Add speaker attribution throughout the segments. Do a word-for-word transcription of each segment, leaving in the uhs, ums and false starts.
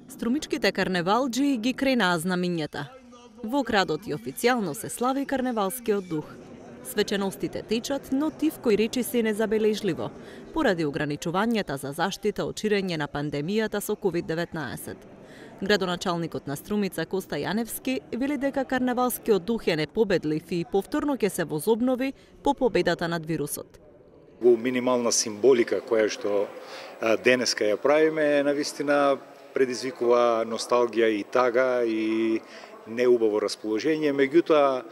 Speaker 1: Струмичките карневалџи ги кренаа знамињата. Во градот и официјално се слави карневалскиот дух. Свеченостите течат, но тивко и речиси незабележливо, поради ограничувањата за заштита од ширење на пандемијата со ковид деветнаесет. Градоначалникот на Струмица Коста Јаневски вели дека карневалскиот дух е непобедлив и повторно ќе се возобнови по победата над вирусот.
Speaker 2: Во минимална символика која што денеска ја правиме, навистина предизвикува носталгија и тага и неубаво расположение, меѓутоа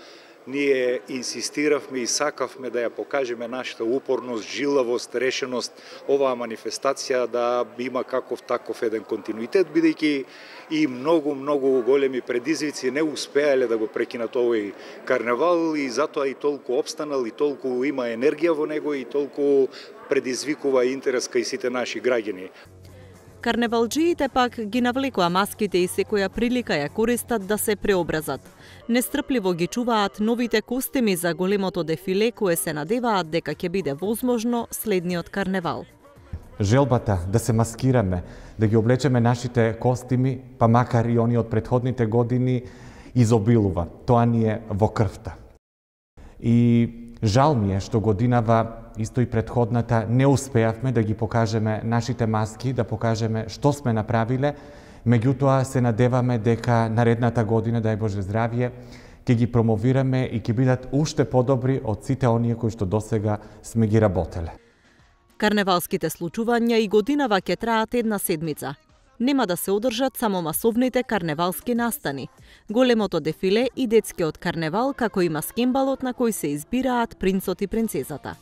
Speaker 2: ние инсистиравме и сакавме да ја покажеме нашата упорност, жилавост, решеност, оваа манифестација да има каков таков еден континуитет, бидејќи и многу, многу големи предизвици не успеале да го прекинат овој карневал и затоа и толку опстанал, и толку има енергија во него, и толку предизвикува интерес кај сите наши граѓани.
Speaker 1: Карневалџиите пак ги навлекоа маските и секоја прилика ја користат да се преобразат. Нестрпливо ги чуваат новите костими за големото дефиле кое се надеваат дека ќе биде возможно следниот карневал.
Speaker 3: Желбата да се маскираме, да ги облечеме нашите костими, па макар и они од претходните години, изобилува. Тоа ни е во крвта. И жал ми е што годинава, исто и претходната, не успеавме да ги покажеме нашите маски, да покажеме што сме направиле, меѓутоа се надеваме дека наредната година, дај Боже здравје, ќе ги промовираме и ќе бидат уште подобри од сите оние кои што досега сме ги работеле.
Speaker 1: Карневалските случувања и годинава ќе траат една седмица. Нема да се одржат само масовните карневалски настани, големото дефиле и детскиот карневал, како и маскембалот на кој се избираат принцот и принцезата.